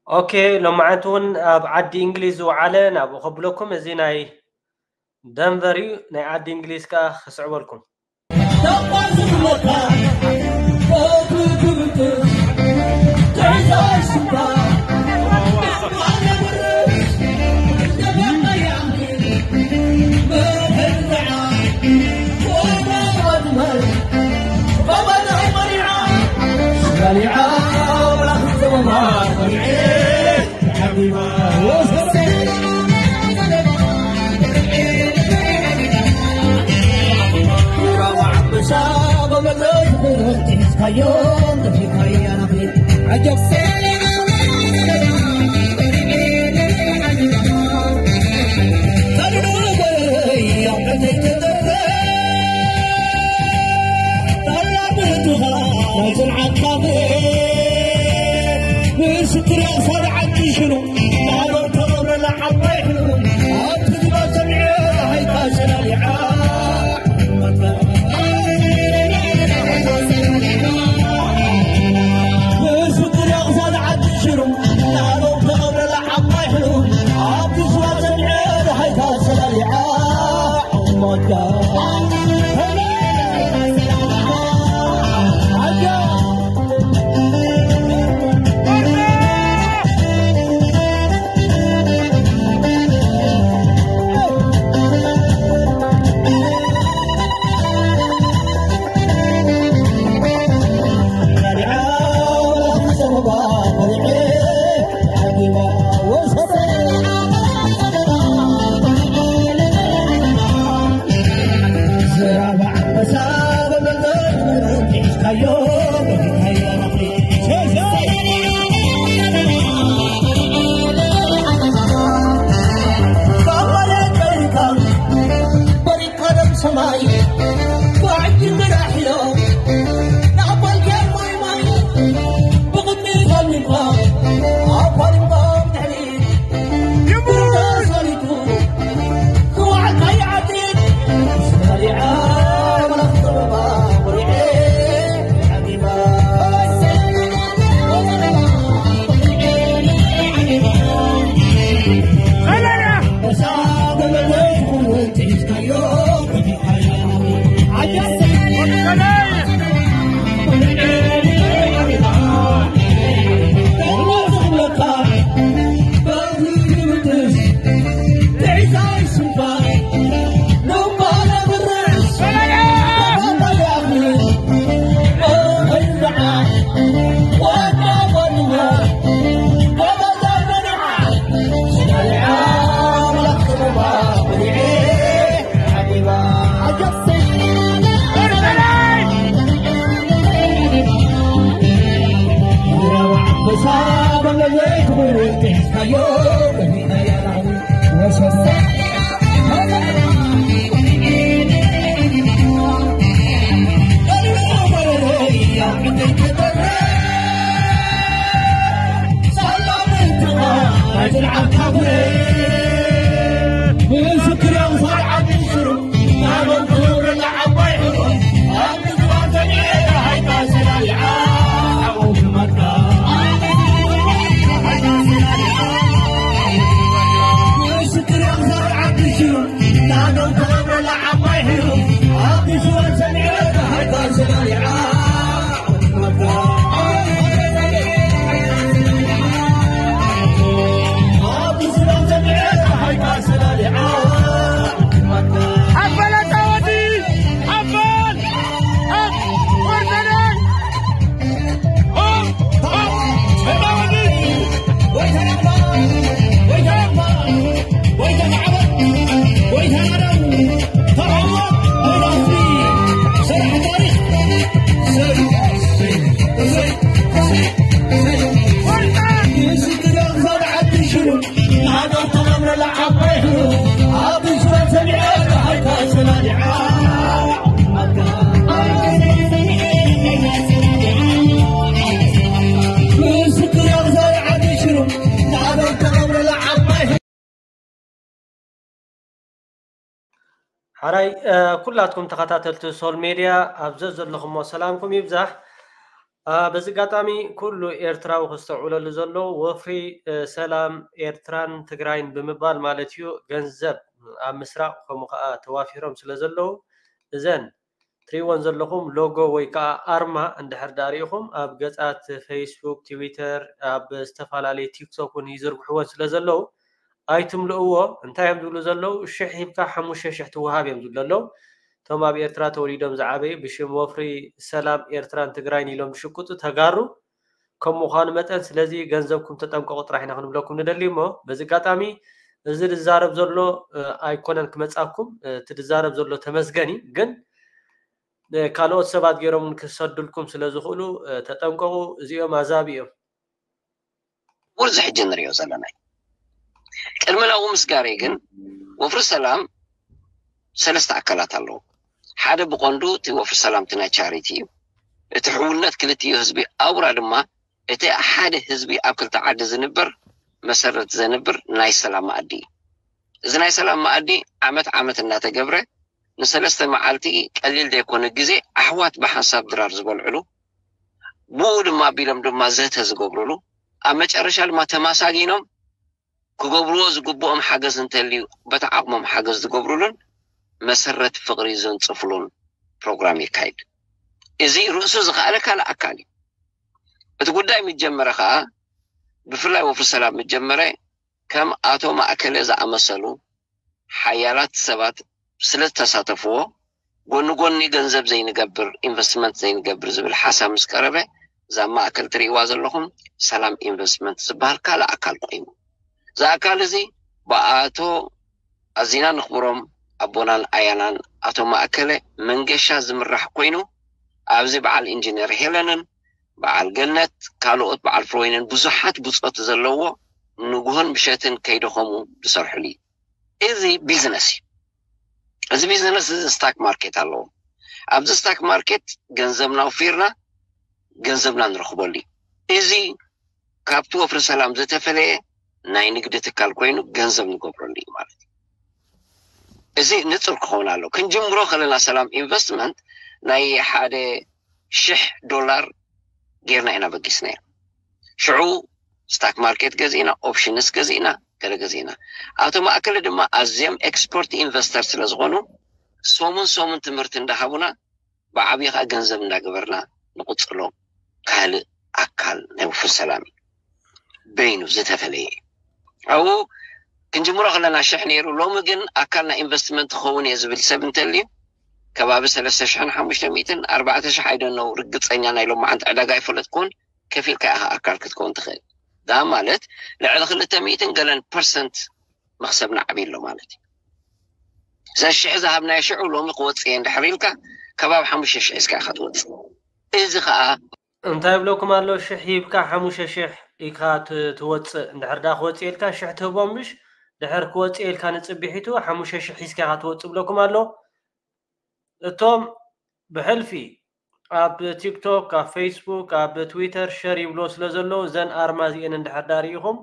ኦኬ፣ ሎማዓንቲ እውን ኣብ ዓዲ እንግሊዝ ዝወዓለ ናብኡ ከብለኩም። እዚ ናይ ደንቨር እዩ። ናይ ዓዲ እንግሊዝ ከኣ ክስዕበልኩም። ሓራይ ኩላትኩም ተኸታተልቲ ሶል ሜድያ ኣብ ዘዘለኹሞ ሰላምኩም ይብዛሕ። በዚ ኣጋጣሚ ኩሉ ኤርትራዊ ክስተውዕለሉ ዘለዎ ወፍሪ ሰላም ኤርትራን ትግራይን ብምባል ማለት እዩ፣ ገንዘብ ኣብ ምስራቕ ከምኡ ከዓ ተዋፊሮም ስለ ዘለዉ እዘን ትሪእወን ዘለኹም ሎጎ ወይ ከዓ ኣርማ እንድሕር ዳሪእኹም ኣብ ገፃት ፌስቡክ፣ ትዊተር፣ ኣብ ዝተፈላለዩ ቲክቶክ እውን ይዝርግሕወን ስለ ዘለዉ ኣይትምልእዎ። እንታይ እዮም ዝብሉ ዘለዉ? ሽሕ ሂብካ ሓሙሽተ ሽሕ ትወሃብ እዮም ዝብሉ ዘለዉ። እቶም ኣብ ኤርትራ ተወሊዶም ዝዓበዩ ብሽም ወፍሪ ሰላም ኤርትራን ትግራይን ኢሎም ዝሽቅጡ ተጋሩ ከም ምዃኑ መጠን ስለዚ ገንዘብኩም ተጠንቀቑ ጥራሕ ኢና ክንብለኩም ንደሊ። እሞ በዚ ኣጋጣሚ እዚ ዝዛረብ ዘሎ ኣይኮነን ክመጻኩም፣ እቲ ዝዛረብ ዘሎ ተመስገን እዩ። ግን ካልኦት ሰባት ገይሮም ክሰዱልኩም ስለ ዝኽእሉ ተጠንቀቑ። እዚኦም ኣዛቢ እዮም። ውርዚ ሕጂ ንሪኦ ዘለና እዩ። ቅድሚ ናብኡ ምስጋረይ ግን ወፍሪ ሰላም ሰለስተ ኣካላት ኣለዎ። ሓደ ብቐንዱ እቲ ወፍሪ ሰላም እቲ ናይ ቻሪቲ እዩ። እቲ ሕውነት ክልቲኡ ህዝቢ ኣውራ ድማ እቲ ሓደ ህዝቢ ኣብ ክልተ ዓዲ ዝንበር መሰረት ዘንብር ናይ ሰላም መኣዲ እዩ። እዚ ናይ ሰላም መኣዲ ዓመት ዓመት እናተገብረ ንሰለስተ መዓልቲ ቀሊል ዘይኮነ ግዜ ኣሕዋት ብሓንሳብ ድራር ዝበልዕሉ ብኡ ድማ ኣቢሎም ድማ ዘተ ዝገብሩሉ ኣብ መጨረሻ ድማ ተማሳጊኖም ክገብርዎ ዝግብኦም ሓገዝ እንተልዩ በቲ ዓቕሞም ሓገዝ ዝገብሩሉን መሰረት ፍቕሪ ዘንፅፍሉን ፕሮግራም ይካይድ። እዚ ርእሱ ዝኸኣለ ካልእ ኣካል እዩ። እቲ ጉዳይ ምጀመረ ከዓ ብፍላይ ወፍሪ ሰላም ምጀመረ ከም ኣቶ ማእከለ ዝኣመሰሉ ሓያላት ሰባት ስለ ዝተሳተፍዎ ጎኒ ጎኒ ገንዘብ ዘይንገብር ኢንቨስትመንት ዘይንገብር ዝብል ሓሳብ ምስ ቀረበ እዛ ማእከል ትርእይዋ ዘለኹም ሰላም ኢንቨስትመንት ዝበሃል ካልእ ኣካል ኮይኑ እዚ ኣካል እዚ ብኣቶ ኣዚና ንኽብሮም ኣቦናን ኣያናን ኣቶ ማእከለ መንገሻ ዝምራሕ ኮይኑ ኣብዚ በዓል ኢንጂነር ሄለንን በዓል ገነት ካልኦት በዓል ፍሮይንን ብዙሓት ብፆት ዘለዎ ንግሆን ምሸትን ከይደኸሙ ዝሰርሕሉ እዩ። እዚ ቢዝነስ እዩ። እዚ ቢዝነስ እዚ ስታክ ማርኬት ኣለዎ። ኣብዚ ስታክ ማርኬት ገንዘብና ኣውፊርና ገንዘብና ንረኽበሉ እዩ። እዚ ካብቲ ወፍሪ ሰላም ዝተፈለየ ናይ ንግዲ ትካል ኮይኑ ገንዘብ ንገብረሉ እዩ ማለት እዩ። እዚ ንፁር ክኸውን ኣለዎ። ክንጅምሮ ከለና ሰላም ኢንቨስትመንት ናይ ሓደ ሽሕ ዶላር ጌርና ኢና በጊስናዮ። ሽዑ ስታክ ማርኬት ገዚእና፣ ኦፕሽንስ ገዚእና፣ ገለ ገዚእና። ኣቶ ማእከለ ድማ ኣዝዮም ኤክስፐርት ኢንቨስተር ስለ ዝኾኑ ሰሙን ሰሙን ትምህርቲ እንዳሃቡና ብዓብዪ ከዓ ገንዘብ እንዳገበርና ንቕፅሎ ካልእ ኣካል ናይ ውፉር ሰላም እዩ። በይኑ ዝተፈለየ እዩ። ኣብኡ ክንጅምሮ ከለና ሽሕ ነይሩ። ሎሚ ግን ኣካል ናይ ኢንቨስትመንት ክኸውን እየ ዝብል ሰብ እንተልዩ ከባቢ ሰለስተ ሽሕን ሓሙሽተ ሚእትን ኣርባዕተ ሽሕ ኣይደነው ርግፀኛ ናይ ሎማዓንቲ ዕዳጋ ኣይፈለጥኩን። ከፊልካ ኢኻ ኣካል ክትከውን ትኽእል። ዳ ማለት ልዕሊ ክልተ ሚእትን ገለን ፐርሰንት መኽሰብ ንዓቢ ኣሎ ማለት እዩ። እዛ ሽሕ ዝሃብናዮ ሽዑ ሎሚ ክወፅእ እየ እንድሕር ኢልካ ከባቢ ሓሙሽተ ሽሕ ሒዝካ ኢኻ ትወፅእ። እዚ ከዓ እንታይ ይብለኩም ኣሎ? ሽሕ ሂብካ ሓሙሽተ ሽሕ ኢኻ ት- ትወፅእ። እንድሕር ዳ ክወፅእ ኢልካ ሽሕ ትህቦም ምሽ ድሕር ክወፅእ ኢልካ ንፅቢሒቱ ሓሙሽተ ሽሕ ሒዝካ ኢኻ ትወፅእ ብለኩም ኣሎ። እቶም ብሕልፊ ኣብ ቲክቶክ፣ ኣብ ፌስቡክ፣ ኣብ ትዊተር ሸር ይብሎ ስለ ዘለዉ እዘን ኣርማ እዚኤን እንድሕር ዳ ርኢኹም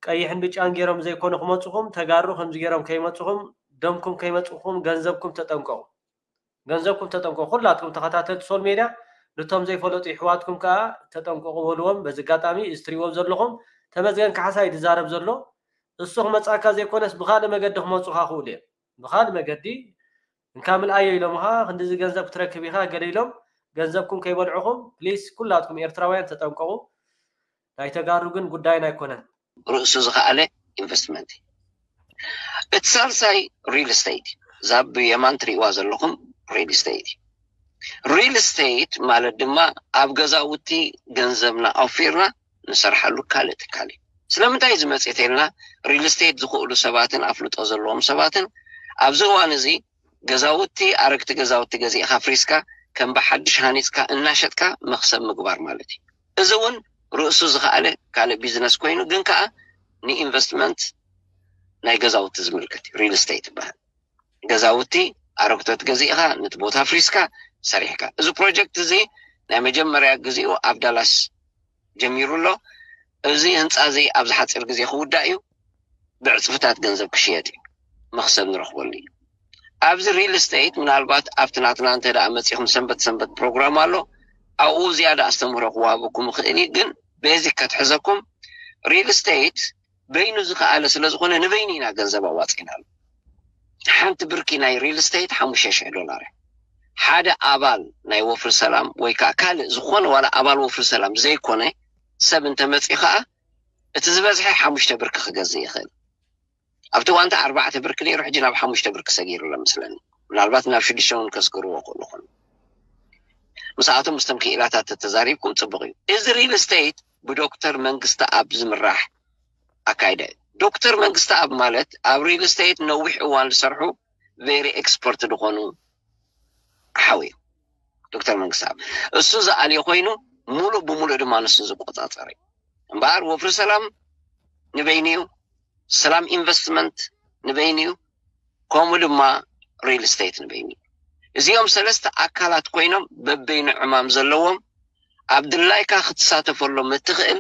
ቀይሕን ብጫን ገይሮም ዘይኮኑ ክመፅኹም ተጋሩ ከምዚ ገይሮም ከይመፅኹም ደምኩም ከይመፅኹም ገንዘብኩም ተጠንቀቑ። ገንዘብኩም ተጠንቀቑ። ኩላትኩም ተኸታተልቲ ሶል ሜድያ ንቶም ዘይፈለጡ ይሕዋትኩም ከዓ ተጠንቀቑ በልዎም። በዚ ኣጋጣሚ እዚ ትሪእዎም ዘለኹም ተመዝገን ካሕሳ እዩ ዝዛረብ ዘሎ። እሱ ክመፃካ ዘይኮነስ ብካልእ መገዲ ክመፁኻ ክእሉ እዮም። ብካልእ መገዲ እንካ ምልኣዮ ኢሎምኻ ክንዲዚ ገንዘብ ክትረክብ ኢኻ ገለ ኢሎም ገንዘብኩም ከይበልዑኹም ፕሊስ ኩላትኩም ኤርትራውያን ተጠንቀቑ። ናይ ተጋሩ ግን ጉዳይና ኣይኮነን። ርእሱ ዝኸኣለ ኢንቨስትመንት እዩ። እቲ ሳልሳይ ሪል ስቴት እዩ። እዛ ብየማን ትርእይዋ ዘለኹም ሪል ስቴት እዩ። ሪል ስቴት ማለት ድማ ኣብ ገዛውቲ ገንዘብና ኣውፊርና ንሰርሓሉ ካልእ ትካል እዩ። ስለምንታይ እዩ ዝመፅእ ተልና ሪል ስቴት ዝኽእሉ ሰባትን ኣፍልጦ ዘለዎም ሰባትን ኣብዚ እዋን እዚ ገዛውቲ ኣረግቲ ገዛውቲ ገዚእኻ ፍሪስካ ከም ብሓድሽ ሃኒፅካ እናሸጥካ መኽሰብ ምግባር ማለት እዩ። እዚ እውን ርእሱ ዝኸኣለ ካልእ ቢዝነስ ኮይኑ ግን ከዓ ንኢንቨስትመንት ናይ ገዛውቲ ዝምልከት እዩ። ሪል ስቴት ይበሃል። ገዛውቲ ኣረግቶት ገዚእኻ ነቲ ቦታ ፍሪስካ ሰሪሕካ። እዚ ፕሮጀክት እዚ ናይ መጀመርያ ግዚኡ ኣብ ዳላስ ጀሚሩ ኣሎ። እዚ ህንፃ እዚ ኣብዚ ሓፂር ግዜ ክውዳእ እዩ። ብዕፅፍታት ገንዘብ ክሽየጥ እዩ። መኽሰብ ንረኽበሉ እዩ። ኣብዚ ሪል ስቴት ምናልባት ኣብቲ ናትና እንተ ደኣ መፂኹም ሰንበት ሰንበት ፕሮግራም ኣሎ። ኣብኡ ዝያዳ ኣስተምህሮ ክወሃበኩም ይኽእል እዩ። ግን ቤዚክ ከትሕዘኩም ሪል ስቴት በይኑ ዝኸኣለ ስለ ዝኾነ ንበይኑ ኢና ገንዘብ ኣዋፂእናሉ። ሓንቲ ብርኪ ናይ ሪል ስቴት ሓሙሽተ ሽሕ ዶላር እያ። ሓደ ኣባል ናይ ወፍሪ ሰላም ወይ ከዓ ካልእ ዝኾነ ዋላ ኣባል ወፍሪ ሰላም ዘይኮነ ሰብ እንተመፂ ከዓ እቲ ዝበዝሐ ሓሙሽተ ብርኪ ክገዝእ ይኽእል። ኣብቲ እዋንቲ ኣርባዕተ ብርኪ ነይሩ፣ ሕጂ ናብ ሓሙሽተ ብርኪ ሰጊሩ ኣሎ መስለኒ። ምናልባት ናብ ሽዱሽተ እውን ከስግርዎ ክእሉ ይኾኑ። ምስኣቶም ምስቶም ክኢላታት ተተዛሪብኩም ፅቡቕ እዩ። እዚ ሪል ስቴት ብዶክተር መንግስቲ ኣብ ዝምራሕ ኣካይዳ እዩ። ዶክተር መንግስቲ ኣብ ማለት ኣብ ሪል ስቴት ነዊሕ እዋን ዝሰርሑ ቬሪ ኤክስፐርት ዝኾኑ ሓው እዩ ዶክተር መንግስቲ ኣብ። እሱ ዝኣልዮ ኮይኑ ሙሉእ ብሙሉእ ድማ ንሱ ዝቆፃፀር እዩ። እምበኣር ወፍሪ ሰላም ንበይኑ እዩ፣ ሰላም ኢንቨስትመንት ንበይኑ እዩ፣ ከምኡ ድማ ሪል ስቴት ንበይኑ እዩ። እዚኦም ሰለስተ ኣካላት ኮይኖም በበይኑ ዕማም ዘለዎም ኣብ ድላይካ ክትሳተፈሎም እትኽእል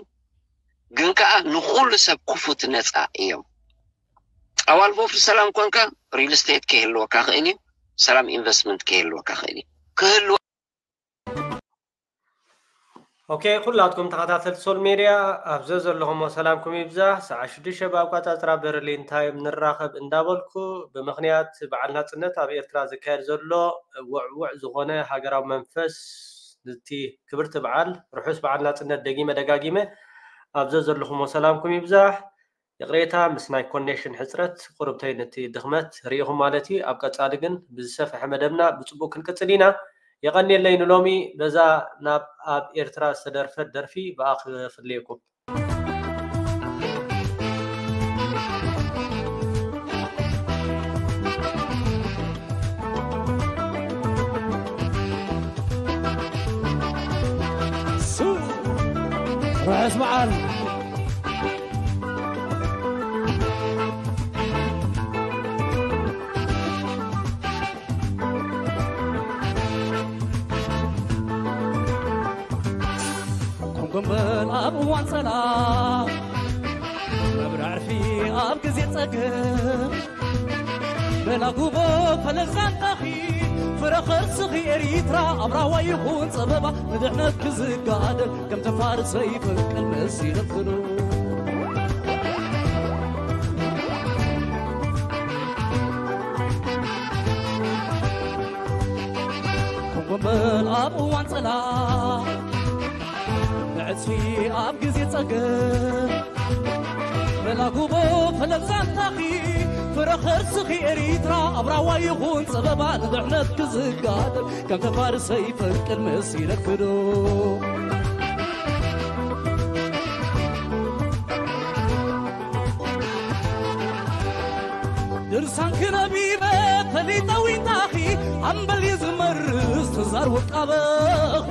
ግን ከዓ ንኹሉ ሰብ ክፉት ነፃ እዮም። ኣባል ወፍሪ ሰላም ኮንካ ሪል ስቴት ከይህልወካ ክእል እዩ፣ ሰላም ኢንቨስትመንት ከይህልወካ ክእል እዩ። ክህልወ ኦኬ ኩላትኩም ተኸታተልቲ ሶል ሜድያ ኣብ ዘዘለኹሞ ሰላምኩም ይብዛሕ። ሰዓት ሽዱሽተ ብኣቋፃፅራ በርሊን ታይም ንራኸብ እንዳበልኩ ብምኽንያት በዓል ናፅነት ኣብ ኤርትራ ዝካየድ ዘሎ ውዕውዕ ዝኾነ ሃገራዊ መንፈስ ነቲ ክብርቲ በዓል ርሑስ በዓል ናፅነት ደጊመ ደጋጊመ ኣብ ዘዘለኹሞ ሰላምኩም ይብዛሕ። ይቕሬታ ምስ ናይ ኮኔክሽን ሕፅረት ቁርብተይ ነቲ ድኽመት ርኢኹም ማለት እዩ። ኣብ ቀፃሊ ግን ብዝሰፍሐ መደብና ብፅቡቅ ክንቅፅል ኢና። የቐንየለይ ንሎሚ በዛ ናብ ኣብ ኤርትራ ዝተደርፈት ደርፊ ብኣ ክፍልየኩም። ርሑስ በዓል። ኮንጎምበል ኣብ እዋን ጸላም መብርዕ ዕርፊ ኣብ ግዜ ጸገም በላጉቦ ፈለግ ዛንታኺ ፍረ ኸርስኺ ኤሪትራ ኣብ ራዋ ይኹን ጸበባ ንድሕነት ክዝጋደል ከም ተፋርሰ ይፈንቅል መሲሉ ፍሉ ኮንጎምበል ኣብ እዋን ጸላም ብዕጽፊ ኣብ ግዜ ጸገም መላጉቦ ፈለግ ዛንታኺ ፍረ ኸርስኺ ኤሪትራ ኣብ ራዋ ይኹን ጸበባ ንድሕነት ክዝጋደል ከም ተፋርሰ ይፈንቅል መሲለክዶ ድርሳንኪ ነቢበ ፈሊጠ ዊንታኺ ኣምበል እዩ ዝመርስ ተዛር ውቃበኺ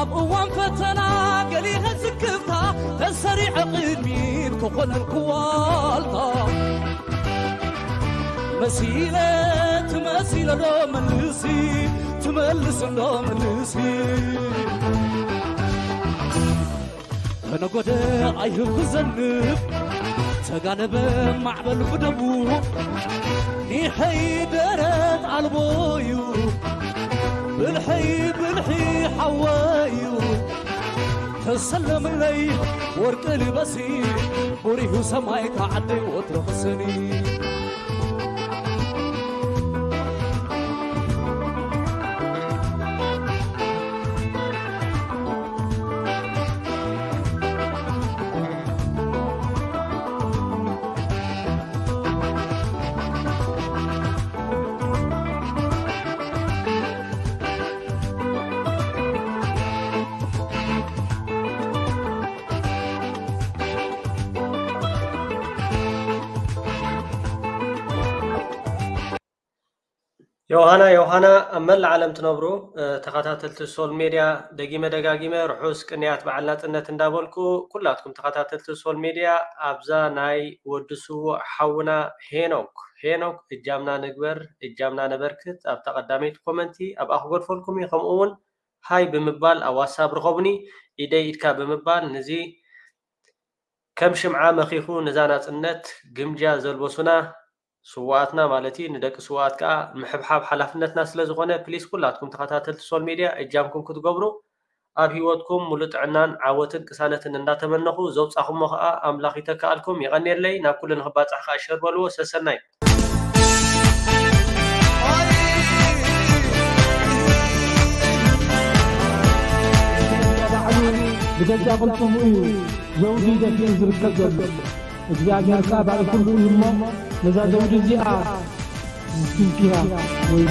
ኣብ እዋን ፈተና ገሊኸ ስክፍታ ተሰሪዐ ቅድሚት ክኾነልኩ ዋልታ መሲለ ትመሲለ ዶ መልሲ ትመልስ እንዶ መልሲ ተነጎደ ኣይህብ ክዘንብ ተጋለበ ማዕበል ብደቡ ኒሐይ ደረት ኣልቦ እዩ ብልሐይ ብልሒ ሓወ እዩ ተሰለምለይ ወርቂ ልበሲ ብሪሁ ሰማይ ከዓደይ ወትሮ ክሰኒ ዮሃና ዮሃና ኣብ መላእ ዓለም ትነብሩ ተኸታተልቲ ሶል ሜድያ ደጊመ ደጋጊመ ርሑስ ቅንያት በዓል ናጽነት እንዳበልኩ ኩላትኩም ተኸታተልቲ ሶል ሜድያ ኣብዛ ናይ ወዲ ስዉእ ሓውና ሄኖክ ሄኖክ እጃምና ንግበር እጃምና ነበርክት ኣብታ ቀዳመይቲ ኮመንቲ ኣብኣ ክገድፈልኩም እዩ ከምኡ እውን ሃይ ብምባል ኣብ ዋትሳፕ ርኸቡኒ ኢደይ ኢድካ ብምባል ንዚ ከም ሽምዓ መኺኹ ነዛ ናጽነት ግምጃ ዘልበሱና ስውኣትና ማለት እዩ ንደቂ ስውኣት ከዓ ምሕብሓብ ሓላፍነትና ስለ ዝኾነ ፕሊስ ኩላትኩም ተኸታተልቲ ሶል ሜድያ እጃምኩም ክትገብሩ ኣብ ህይወትኩም ሙሉ ጥዕናን ዓወትን ቅሳነትን እንዳተመነኹ፣ ዘውጻኹሞ ከኣ ኣምላኽ ይተክኣልኩም። የቐንየለይ። ናብ ኩሉ ንኽባጻሕ ከኣ ሸር በልዎ። ሰሰናዩ። ባዕሉ ብገዛ ቅልጽሙ እዩ ዘውዲ ደፊኡ ዝርከብ ዘሎ። እግዚኣብሔር ከኣ ባዕሉ ኩሉ እዩ እሞ፣ ነዛ ዘውዲ እዚኣ ዝስንኪራ ወይ